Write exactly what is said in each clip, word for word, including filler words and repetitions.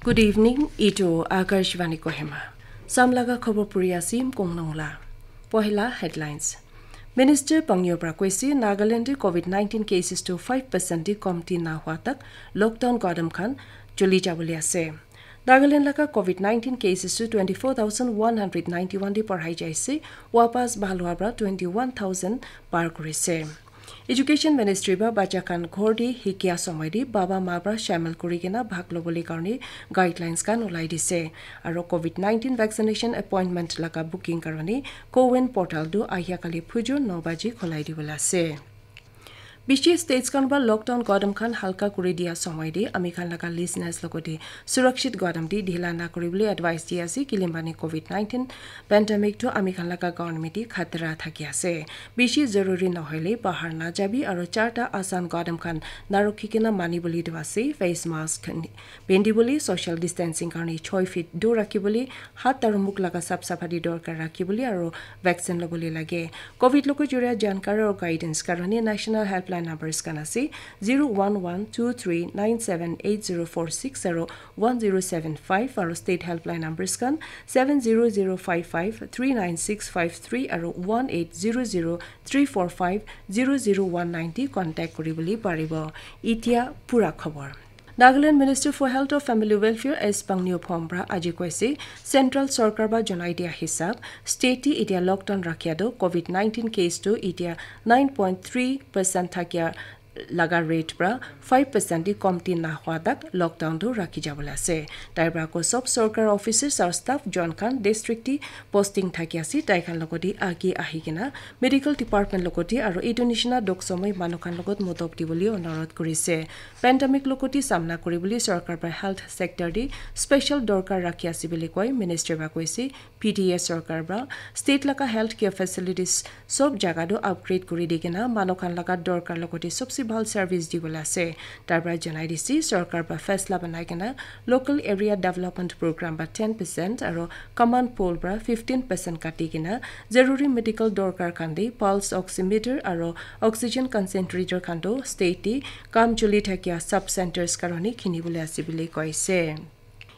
Good evening, itu Akashvani Kohima. Samlaga khobor puri asim kongnongla. Pohela headlines. Minister Pangyo pra koise Nagaland te COVID-19 cases to five percent di komti na hua tak lockdown gadam khan chuli jabole ase. Nagaland laga COVID-19 cases to twenty-four thousand one hundred ninety-one di parhai jaise, wapas bhalwa pra twenty-one thousand par kurise. Education Ministry ba bacha khan ghor di hikia somoi di baba ma pra shamil kuri kena bhag lobole karone guidelines khan ulai dise. Aro COVID-19 vaccination appointment laga booking karone CoWIN portal du ahia kali phujur no baji kholai dibole ase. Bishi states khan ba lockdown gadam khan halka kuri dia somoi di ami khan laga listeners logote surakshit gadam di dhila na kuri bole advice di ase, kilimbani COVID-19 pandemic tu ami khan laga economy te khatara thaki ase. Bishi zaruri nohoile bahar na jabi aro charta asan gadam khan narukhi kena mani bole du ase, face mask khan pindi bole, social distancing karone choi feet dur rakhi bole, hat aro mukh laga sap saphati dorkar rakhi bole aro vaccine lobole lage. COVID logo juria jankari aro guidance karone national helpline numbers khan ase zero one one two three nine seven eight zero four six aro one zero seven five aro state helpline numbers khan seven zero zero five five three nine six five three aro one eight zero zero three four five zero zero one nine di contact kuri bole paribo. Itia pura khobor. Nagaland Minister for Health of Family Welfare S Pangyo Phom pra aji koise, Central Sorkar ba jonai dia hisab, state ti itia lockdown rakhia do COVID-19 case tu itia nine point three percent thakia laga rate pra five percent di komti na hua tak lockdown tu rakhi jabole ase. Tai pra ko sob sorkar officers aro staff jon khan district ti posting thaki ase, tai khan logote agi ahi kena medical department logote aro etu nishina dok somoi manu khan logot modop dibole onurodh kurise. Pandemic logote samna kuri bole sorkar pra health sector te special dorkar rakhi ase bole koi minister pra koise. P D A sorkar pra state laga health care facilities sob jaga tu upgrade kuri di kena manu khan laga dorkar logote sobse bhal service dibole ase. Tai pra janai dise sorkar pra faisla banai kena local area development program pra ten percent aro command pool pra fifteen percent kati kena zaruri medical dorkar khan te pulse oximeter aro oxygen concentrator khan tu state te kam chuli thakia sub centers karone kini bole ase bole koise.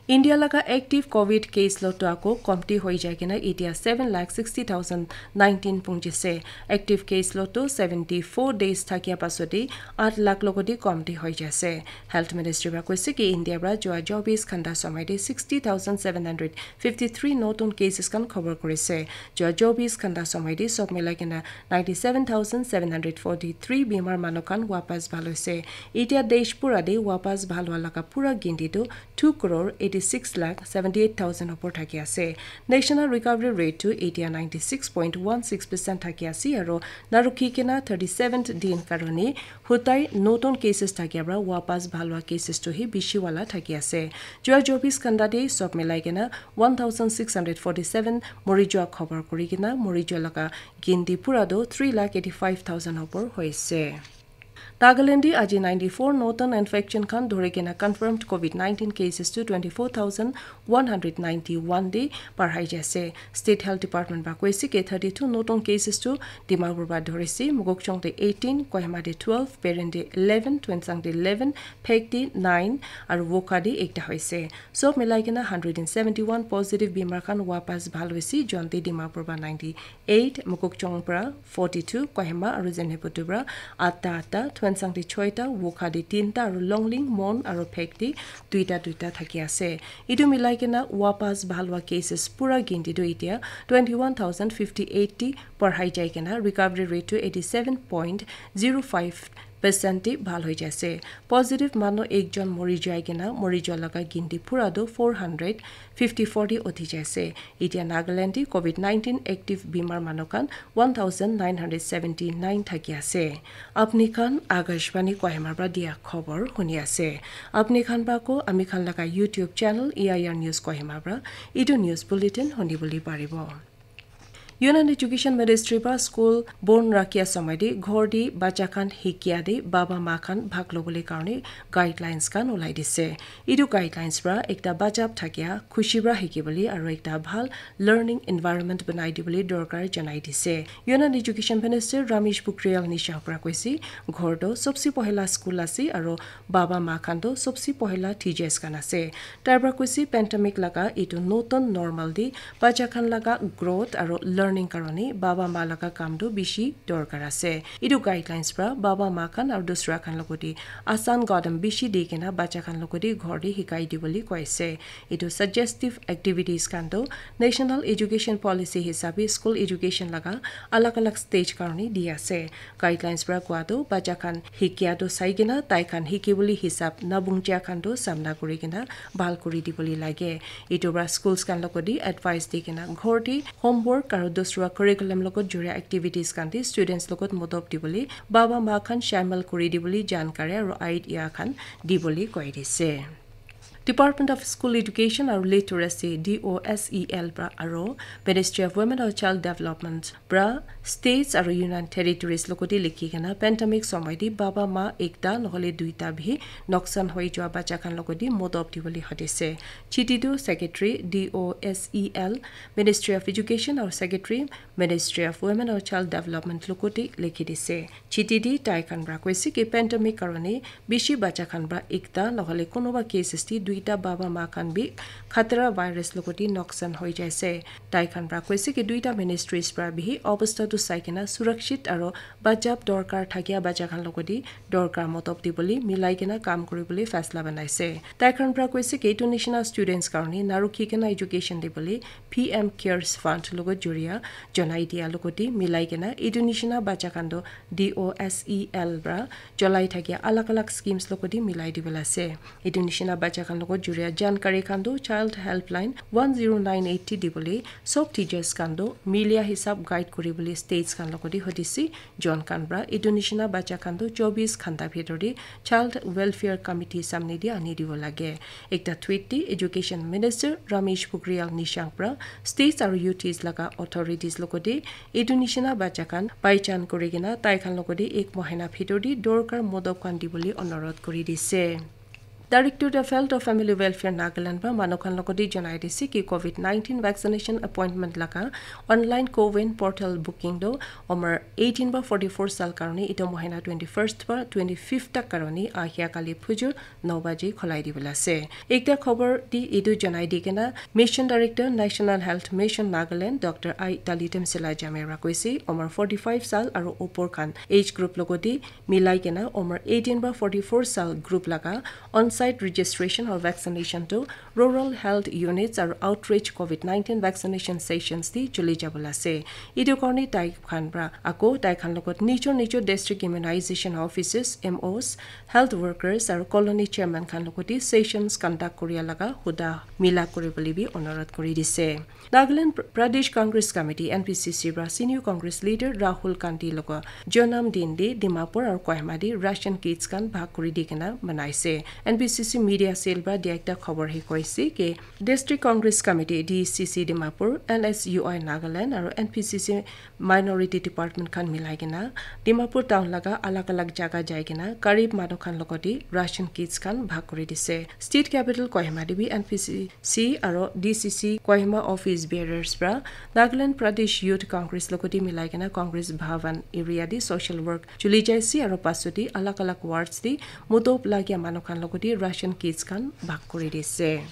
India laga active COVID case lo to ako komti hoi jai kena itia seven lakh sixty thousand nineteen pungjise. Active case lo to seventy four days thakia pasodi eight lakh logote komti hoi jaise. Health Ministry pra koise ki India pra jua chobis ghanta somoi te sixty thousand seven hundred fifty three notun cases khan khobor kurise. Jua chobis ghanta somoi te sob milai kena ninety seven thousand seven hundred forty three bimar manu khan wapas bhal hoise. Itia desh pura te wapas bhal hua laga pura ginti tu two crore eighty six lakh seventy eight thousand opor thaki ase. National recovery rate tu itia ninety six point one six percent thaki ase aro narukhi kena thirty seventh din karone hutai notun cases thakia pra wapas bhal hua cases tu hi bishi wala thaki ase. Jua chobis ghanta te sob milai kena one thousand six hundred forty seven mori jua khobor kuri kena mori jua laga ginti pura tu three lakh eighty five thousand opor hoise. Nagaland te aji ninety four notun infection khan dhori kena confirmed COVID-19 cases tu twenty four thousand one hundred ninety one te parhai jaise. State Health Department pra koise ki thirty two notun cases tu Dimapur pra dhorise, Mokokchung te eighteen, Kohima te twelve, Peren te eleven, Tuensang te eleven, Phek te nine, aru Wokha te ekta hoise. Sob milai kena hundred and seventy one positive bimar khan wapas bhal hoise, jonte Dimapur pra ninety eight, Mokokchung pra forty two, Kohima aru Zunheboto pra atta atta, Tuensang te choita, Wokha te tinta, aru Longleng, Mon aru Phek te duita duita thaki ase. Etu milai kena wapas bhal hua cases pura ginti tu itia twenty one thousand fifty eight te parhai jai kena recovery rate tu eighty seven point zero five percent te bhal hoi jai ase. Positive manu ekjon mori jai kena mori jua laga ginti pura tu four hundred fifty four te uthi jai ase. Itia Nagaland te COVID nineteen active bimar manu khan one thousand nine hundred seventy nine thaki ase. Apni khan Akashvani Kohima pra dia khobor huni ase. Apni khan pa ko ami khan laga YouTube channel E I R News Kohima pra etu news bulletin huni bole paribo. Union Education Ministry para school bon rakhia samai te ghor te bacha khan hikia te baba ma khan bhag lobole karne guidelines khan ulai dise. Etu guidelines para ekta bachap thakia khushi para hikibole aru ekta bhal learning environment banai dibole dorkar janai dise. Union Education Minister Ramesh Pokhriyal Nishank para koise, ghor to sobse pohila school ase aru baba ma khan to sobse pohila teachers khan ase. Tai para koise pandemic laga etu notun normal te bacha khan laga growth aru learning karone baba ma laga kam tu bishi dorkar ase. Etu guidelines para baba ma khan aru dusra khan logote asan gadam bishi di kena bacha khan logote ghor te hikai dibole koise. Etu suggestive activities khan tu National Education Policy hisabe school education laga alag alag stage karone di ase. Guidelines para koa tu bacha khan hikia tu sai kena tai khan hikibole hisab nabungchia khan tu samna kuri kena bhal kuri dibole lage. Etu para schools khan logote advice di kena ghor te homework aru dusra curriculum logot juria activities khan te students logot modop dibole baba ma khan shamil kuri dibole jankari aru idea khan dibole koi dise. Department of School Education aru Literacy, D O S E L, para aru Ministry of Women and Child Development para states aru Union Territories logote likhi kena pandemic somoi te baba ma ekta nohole duita bhi noksan hoi jua bacha khan logote modop dibole hodise. Chiti tu Secretary D O S E L, Ministry of Education aru Secretary Ministry of Women and Child Development logote likhi dise. Chiti te tai khan para koise ki pandemic karone bishi bacha khan para ekta nohole kunuba cases te duita baba ma khan bi khatara virus logote noksan hoi jaise. Tai khan para koise ki duita ministries para bihi obostha tu sai kena surakshit aru bachap dorkar thakia bacha khan logote dorkar modop dibole milai kena kam kuribole faisla banaise. Tai khan para koise ki etu nishina students karone narukhi kena education dibole P M Cares Fund logot juria janai dia logote milai kena etu nishina bacha khan tu D O S E L para cholai thakia alag alag schemes logote milai dibole ase. Etu nishina bacha khan logot juria jankari khan tu Child Helpline one zero nine eight te dibole sob teachers khan tu milia hisab guide kuribole states khan logote hodise. Jon khan para etu nishina bacha khan tu chobis ghanta bhitor te Child Welfare Committee samne te ani dibo lage. Ekta tweet te Education Minister Ramesh Pokhriyal Nishank para states aru U Ts laga authorities logote etu nishina bacha khan paichan kuri kena tai khan logote ek mohina bhitor te dorkar modop khan dibole onurodh kuri dise. Directorate of Health of Family Welfare Nagaland para manu khan logote janai dise ki covid nineteen vaccination appointment laga online CoWIN portal booking tu umar eighteen para forty four saal karone etu mohina twenty first para twenty fifth tak karone ahia kali phujur nine baje khulai dibole ase. Ekta khobor te etu janai di kena Mission Director National Health Mission Nagaland Doctor I Talitem Sila Jamera koise umar forty five saal aru upor khan age group logote milai kena umar eighteen para forty four saal group laga on-site registration or vaccination tu rural health units aru outreach covid nineteen vaccination sessions te chuli jabole ase. Etu karone tai khan para ako tai khan logot nijor nijor district immunization offices, M Os, health workers aru colony chairman khan logote sessions conduct kuria laga huda mila kuribole bi onurodh kuri dise. Nagaland Pr- Pradesh Congress Committee, N P C C, para senior Congress leader Rahul Gandhi logo janam din te Dimapur aru Kohima te ration kits khan bhag kuri di kena manaise. N P C C media cell para dia ekta khobor hi koise ki District Congress Committee, D C C Dimapur, N S U I Nagaland aru N P C C minority department khan milai kena Dimapur town laga alag alag jaga jai kena garib manu khan logote ration kits khan bhag kuri dise. State capital Kohima te bi N P C C aru D C C Kohima office bearers para Nagaland Pradesh Youth Congress logote milai kena Congress Bhavan area te social work chuli jaise aru pasu te alag alag wards te mudop lagia manu khan logote ration kits khan bhag kuri dise.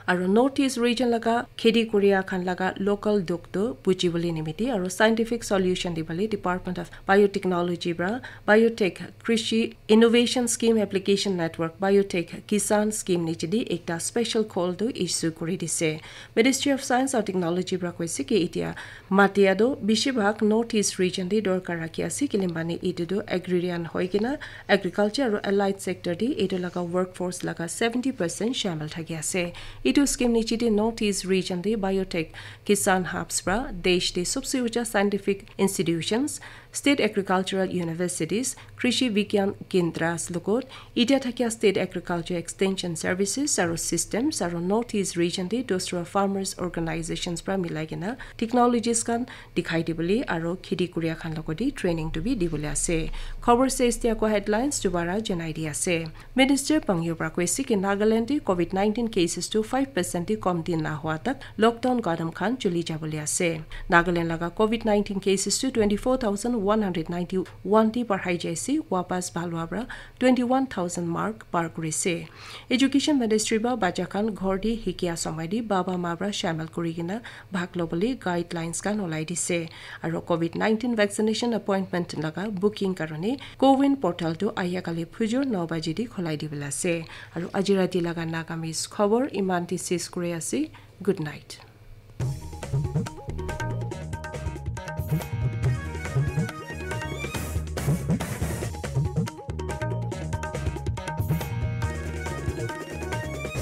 Aru North East region laga kheti kuria khan laga local dukh tu buji bole nimite aru scientific solution dibole Department of Biotechnology para Biotech Krishi Innovation Scheme Application Network Biotech Kisan Scheme niche te ekta special call tu issue kuri dise. Ministry of Science and Technology para koise ki etia matia tu bishi bhag North East region te dorkar rakhi ase, kile mane etu tu agrarian hoi kena agriculture aru allied sector te etu laga workforce laga seventy percent shamil thaki ase. Etu scheme niche te North East region te biotech kisan hubs para desh te sobse ucha scientific institutions, State Agricultural Universities, Krishi Vigyan Kendras logot, itia thakia State Agriculture Extension Services aro Systems aro North East Region te dosra farmers organizations pra milai kena technologies khan dikhai dibole aro kheti kuria khan logot te training tu bi dibole ase. Khobor se itia ko headlines dubara janai di ase. Minister Pangyo pra koise ki Nagaland te covid nineteen cases tu five percent te kom din na hua tak lockdown kadam khan chuli jabole ase. Nagaland laga covid nineteen cases tu twenty four thousand one hundred ninety one te barhai jaise, wapas bhalwa pra twenty one thousand mark par kurise. Education Ministry ba bacha khan ghor te hikia samai te baba ma pra shamil kuri kena bhag lobole guidelines khan olai dise. Aro covid nineteen vaccination appointment laga booking karone CoWIN portal tu ahia kali phujur no baji te khulai dibole ase. Aro aji rati laga Nagamese khobor iman te ses kuri ase. Good night.